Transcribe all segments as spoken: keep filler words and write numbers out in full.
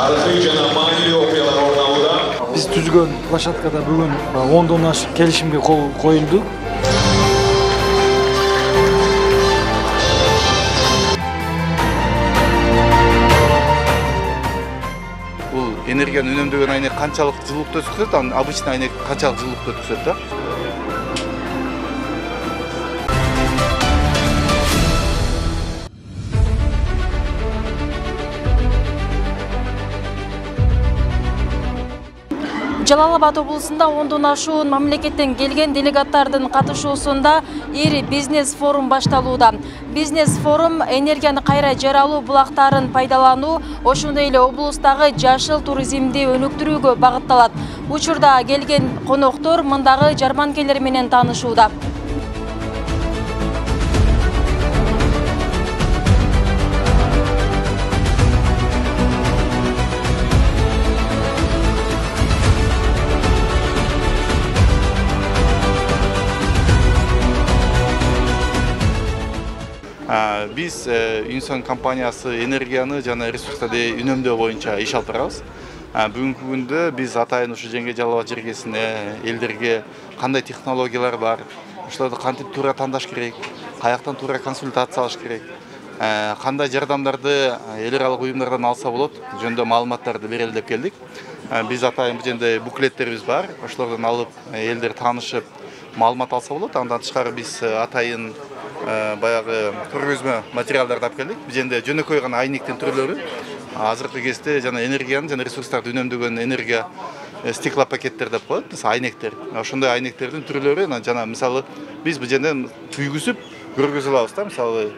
тарыхый жана маанилүү окуялар орун алууда. Биз түзгөн площадкада бүгүн ондон ашык келишимге кол коюлду. Бул энергияны үнөмдөгөн айнек канчалык жылуулукту өткөзөт, анан обычный айнек канчалык жылуулукту өткөзөт да? Жалал Абад облусунда ондон ашуун мамлекеттен келген делегаттардын катышуусунда ири бизнес форум башталууда. Бизнес форум энергияны кайра жаралуу булактарын пайдалануу, ошондой эле облустагы жашыл туризмди өнүктүрүүгө багытталат. Учурда келген коноктор мындагы жарманкелер менен таанышууда. Биз Unisan компаниясы энергияны жана ресурстарды үнөмдөө боюнча иш алып барабыз. Бүгүнкү күндө биз атайын ушу Жеңге Жалал Абад жергесине элдерге кандай технологиялар бар, ошолорду кантип туура тандаш керек, каяктан туура консультация алыш керек, кандай жардамдарды эл аралык уюмдардан алса болот жөнүндө маалыматтарды берели деп келдик. Биз атайын бул жерде буклеттерибиз бар, ошолордон алып элдер таанышып маалымат алса болот. Андан тышкары биз атайын баягы көргөзмө материалдарды алып келдик. Бул жерде жөнөкөй гана айнектин түрлөрү, азыркы кезде жана энергияны жана ресурстарды үнөмдөгөн энергия стеклопакеттер деп коет, мисалы айнектер. Ошондой айнектердин түрлөрү жана мисалы биз бул жерден күйгүзүп көргөзө алабыз да. Мисалы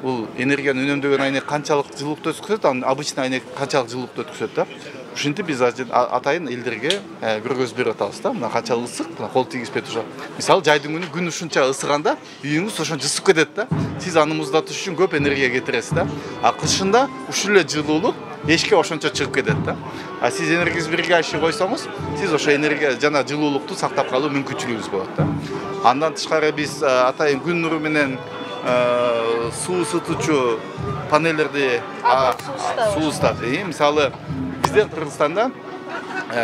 бул энергияны үнөмдөгөн айнек канчалык жылуулукту өткөзөт, анан обычный айнек канчалык жылуулукту өткөзөт да. Ушинтип биз атайын элдерге көргөзүп берип атабыз да. Мына канчалык ысык, кол тийгизбей туруп. Мисалы жайдын күнү күн ушунча ысыганда үйүңүз ошончо ысып кетет да. Сиз аны муздатыш үчүн көп энергия кетиресиз да. А кышында ушул эле жылуулук эчке ошончо чыгып кетет да. А сиз энергия сберегающий койсоңуз, сиз ошо энергия жана жылуулукту сактап калуу мүмкүнчүлүгүңүз болот да. Андан тышкары биз атайын күн нуру менен суу ысытуучу панелдерди суу ысытат. Мисалы бизден Кыргызстанда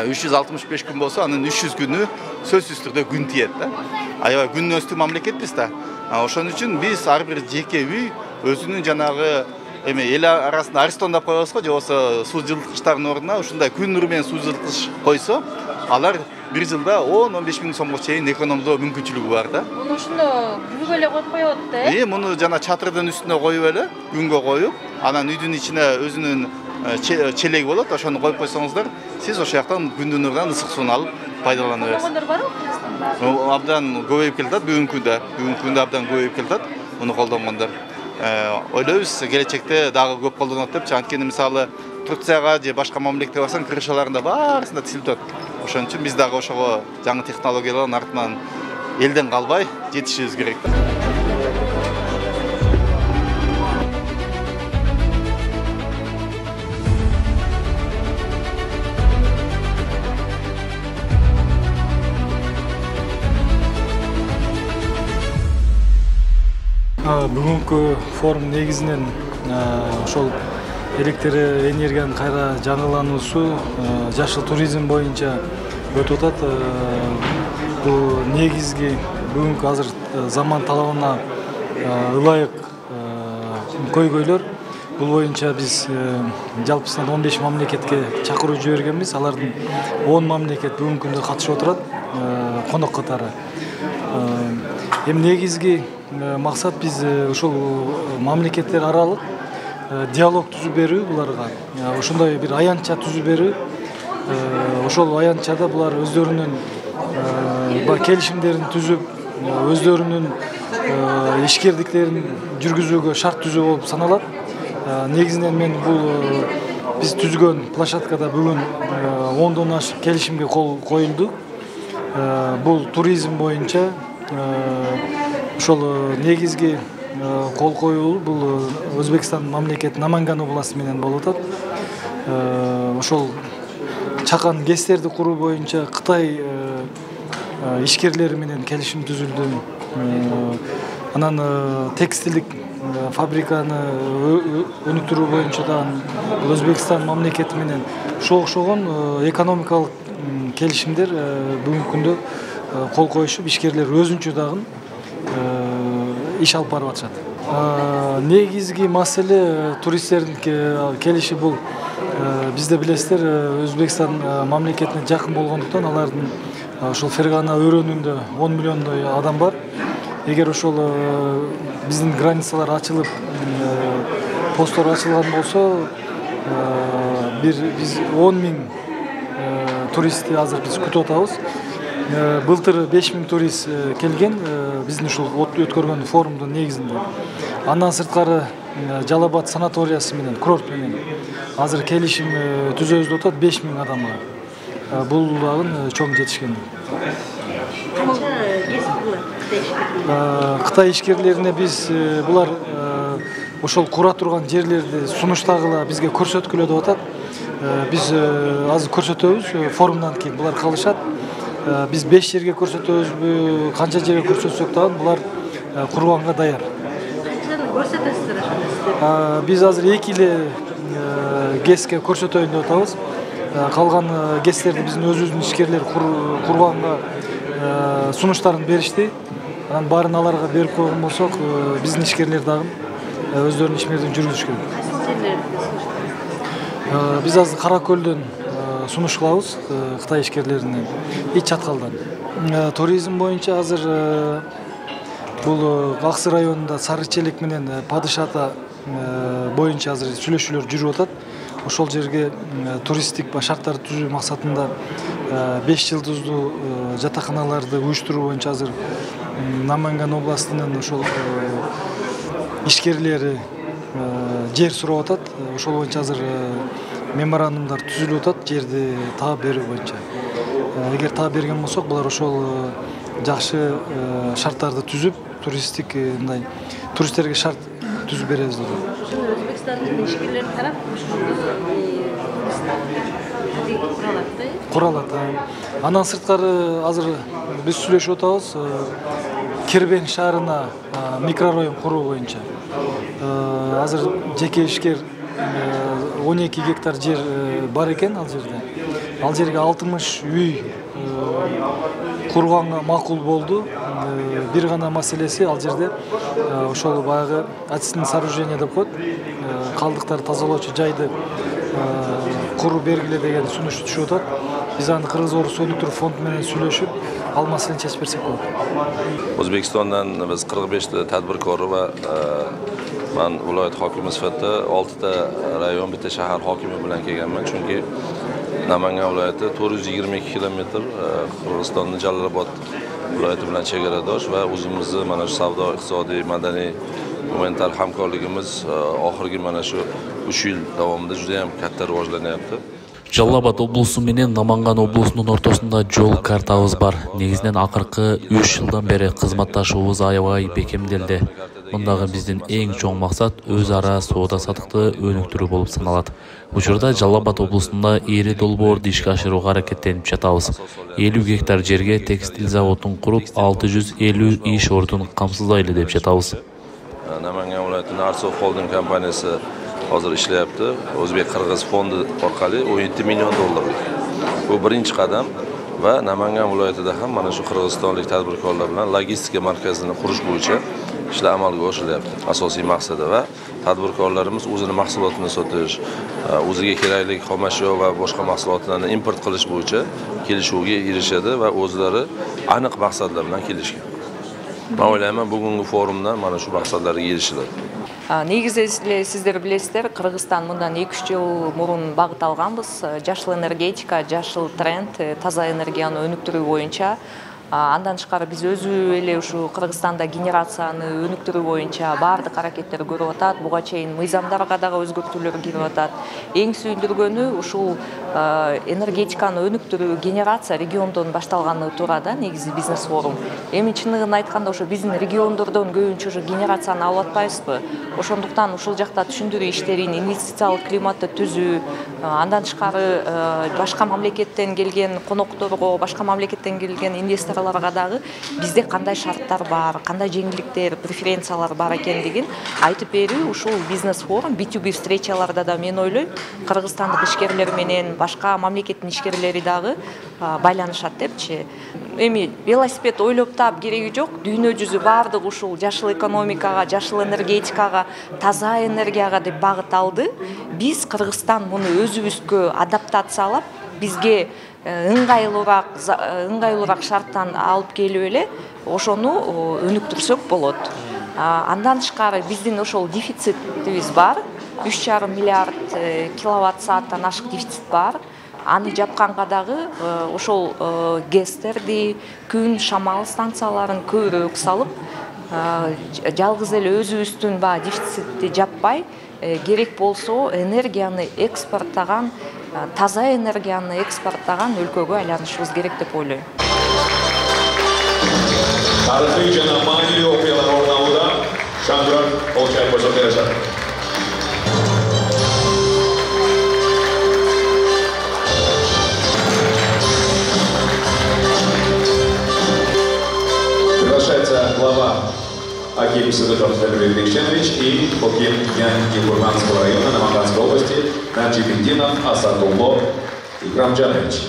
үч жүз алтымыш беш күн болсо, анын үч жүз күнү сөзсүз түрдө күн тиет да. Аябай күн өстү мамлекетпиз да. Ошон үчүн биз ар бир жеке үй өзүнүн жанагы эме эл арасында Аристон деп коебуз го, же болбосо суу жылыткычтардын ордуна ушундай күн нуру менен суу жылыткыч койсо, алар бир жылда он он беш миң сомго чейин экономдоо мүмкүнчүлүгү бар да. Муну ушуну күнгө эле коюп коет да, э? Э, муну жана чатырдын үстүнө коюп эле, күнгө коюп, анан үйдүн ичине өзүнүн челеги болот, ошону коюп койсоңуздар, сиз ошол жактан күндүн нурунан ысык сууну алып пайдалана бересиз. Колдонгондор барбы Кыргызстанда? Абдан көбөйүп келатат бүгүнкү күндө. Бүгүнкү күндө абдан көбөйүп келатат муну колдонгондор. Ойлойбуз келечекте дагы көп колдонот деп. Анткени мисалы Турцияга же башка мамлекетке барсаң, крышаларында баарысында тилтөт. Ошон үчүн биз дагы ошого жаңы технологиялардын артынан элден калбай жетишибиз керек. Бүгүнкү форум негизинен ошол электр энергиянын кайра жаңылануусу, жашыл туризм боюнча өтүп атат. Бул негизги бүгүнкү азыр заман талабына ылайык көйгөйлөр. Бул боюнча биз жалпысынан он беш мамлекетке чакыруу жибергенбиз. Алардын он мамлекет бүгүнкү күндө катышып отурат конок катары. Эми негизги максат биз ушул мамлекеттер аралык диалог түзүп берүү буларга. Ошондой бир аянтча түзүп берүү. Ошол аянтчада булар өздөрүнүн келишимдерин түзүп, өздөрүнүн ишкердиктерин жүргүзүүгө шарт түзүү болуп саналат. Негизинен мен бул биз түзгөн площадкада бүгүн ондон ашык келишимге кол коюлду. Бул туризм боюнча ошол негизги кол коюу бул Өзбекстан мамлекет Наманган областы менен болуп атат. Ошол чакан гэстерди куруу боюнча Кытай ишкерлери менен келишим түзүлдү. Анан текстилдик фабриканы өнүктүрүү боюнча дагы Өзбекстан мамлекети менен ошого окшогон экономикалык келишимдер бүгүнкү күндө кол коюшуп, ишкерлер өзүнчө дагы иш алып барып атышат. Негизги маселе туристтердин келиши бул. Бизде билесиздер, Өзбекстан мамлекетине жакын болгондуктан алардын ошол Фергана өрөөнүндө он миллиондой адам бар. Эгер ошол биздин границалар ачылып, посттор ачылган болсо, бир биз он миң туристти азыр биз күтүп атабыз. Былтыр беш миң турист келген биздин ушул өткөргөн форумдун негизинде. Андан сырткары Жалал Абад санаториясы менен, курорт менен азыр келишим түзөбүз деп атат беш миң адамга. Бул дагы чоң жетишкендик. Кытай ишкерлерине биз булар ошол кура турган жерлерди сунуштагыла бизге көрсөткүлө деп атат. Биз азыр көрсөтөбүз, форумдан кийин булар калышат. Биз беш жерге көрсөтөбүзбү, канча жерге көрсөтсөк дагы булар курганга даяр. Биз азыр эки эле гэске көрсөтөйүн деп атабыз. Калган гэстерди биздин өзүбүздүн ишкерлер курганга сунуштарын беришти. Анан баарын аларга берип койгон болсок, биздин ишкерлер дагы өздөрүнүн ишмердин жүргүзүшкө. Биз азыр Кара Көлдөн сунуш кылабыз Кытай ишкерлерине, Ич Чаткалдан. Туризм боюнча азыр бул Аксы районунда Сары Челек менен Падышата боюнча азыр сүйлөшүүлөр жүрүп атат. Ошол жерге туристтик шарттарды түзүү максатында беш жылдыздуу жатаканаларды уюштуруу боюнча азыр Наманган областынын ошол ишкерлери жер сурап атат. Ошол боюнча азыр меморандумдар түзүлүп атат, жерди таап берүү боюнча. Эгер таап берген болсок, булар ошол жакшы шарттарды түзүп, туристтик мындай туристтерге шарт түзүп беребиз деп. Өзбекстандын ишкерлери тарап куралат. Андан сырткары азыр биз сүйлөшүп атабыз Кербен шаарына микрорайон куруу боюнча. Азыр жеке ишкер он эки гектар жер бар экен ал жерде. Ал жерге алтымыш үй курганга макул болду. Бир гана маселеси ал жерде ошол баягы очистное сооружение деп коет. Калдыктарды тазалоочу жайды куруу бергиле деген сунуш түшүп атат. Биз аны Кыргыз-Орус өнүктүрүү фонду менен сүйлөшүп, ал маселени чечип берсек болот. O'zbekistondan biz qirq beshta tadbirkor va men viloyat hokimi sifatida oltita rayon, bitta shahar hokimi bilan kelganman. Chunki Namangan viloyati to'rt yuz yigirma ikki kilometr Qirg'izistonning Jalol Abod viloyati bilan chegaradosh va o'zimizni mana shu savdo, iqtisodiy, madaniy, gumanitar hamkorligimiz oxirgi mana shu uch yil davomida juda ham katta rivojlanyapti. Жалал Абад облусу менен Наманган облусунун ортосунда жол картабыз бар. Негизинен акыркы үч жылдан бери кызматташуубуз аябай бекемделди. Мындагы биздин эң чоң максат өз ара соода саттыкты өнүктүрүү болуп саналат. Учурда Жалал Абад облусунда ири долбоорду ишке ашырууга аракеттенип жатабыз. элүү гектар жерге текстиль заводун куруп, алты жүз элүү иш ордун камсыздайлы деп жатабыз. Namangan viloyatining Arso Holding kompaniyasi hozir ishlayapti. O'zbek Qirg'iz fondi orqali o'n yetti million dollarlik. Bu birinchi qadam va Namangan viloyatida ham mana shu qirg'izistonlik tadbirkorlar bilan logistika markazini qurish bo'yicha ishlar amalga oshirilyapti. Asosiy maqsadi va tadbirkorlarimiz o'zini mahsulotini sotish, o'ziga kerakli xomashyo va boshqa mahsulotlarni import qilish bo'yicha kelishuvga erishadi va o'zlari aniq maqsadlar bilan kelishgan. Men o'ylayman bugungi forumdan mana shu maqsadlarga erishiladi. Негизи сиздер билесиздер, Кыргызстан мындан эки үч жыл мурун багыт алганбыз. Жашыл энергетика, жашыл тренд, таза энергияны өнүктүрүү боюнча. Андан тышкары биз өзү эле ушу Кыргызстанда генерацияны өнүктүрүү боюнча баардык аракеттер көрүп атат. Буга чейин мыйзамдарга дагы өзгөртүүлөр кирип атат. Эң сүйүндүргөнү ушул энергетиканы өнүктүрүү, генерация региондон башталганы турада негизи бизнес форум. Эми чыныгын айтканда ошо биздин региондордон көбүнчө ошо генерацияны алып атпайбызбы? Ошондуктан ушул жакта түшүндүрүү иштерин, инвестициялык климатты түзүү, андан тышкары башка мамлекеттен келген конокторго, башка мамлекеттен келген инвесторлорго инвесторлорго дагы бизде кандай шарттар бар, кандай жеңилдиктер, преференциялар бар экендигин айтып берүү ушул бизнес форум би ту би встречаларда да мен ойлойм кыргызстандык ишкерлер менен башка мамлекеттин ишкерлери дагы байланышат депчи. Эми велосипед ойлоп таап кереги жок. Дүйнө жүзү баардык ушул жашыл экономикага, жашыл энергетикага, таза энергияга деп багыт алды. Биз Кыргызстан муну өзүбүзгө адаптациялап, бизге ыңгайлуураак ыңгайлуураак шарттан алып келип эле ошону өнүктүрсөк болот. Андан тышкары биздин ошол дефицитибиз бар. үч жарым миллиард киловатт сааттан ашык дефицит бар. Аны жапканга дагы ошол гэстерди, күн шамал станцияларын көбүрөөк салып, жалгыз эле өзүбүздүн баягы дефицитти жаппай, керек болсо энергияны экспорттаган, таза энергияны экспорттаган өлкөгө айланышыбыз керек деп ойлойм. Тарыхый жана маанилүү окуялар орун алууда. Шаңгырак Олчаев мырза беришет. Приглашается глава Аким Садыков Дмитрий Викшенович и Оким Янки-Курганского района Наманганской области Наджибиддинов Асадулло Икрамджанович.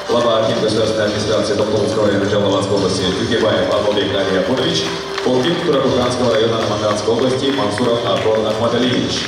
Глава Аким государственной администрации Токтомского района Жалалабадской области Югебаев Абдулбек Али Апунович, Оким Туракурганского района Наманганской области Мансуров Абдул Ахмадалиевич.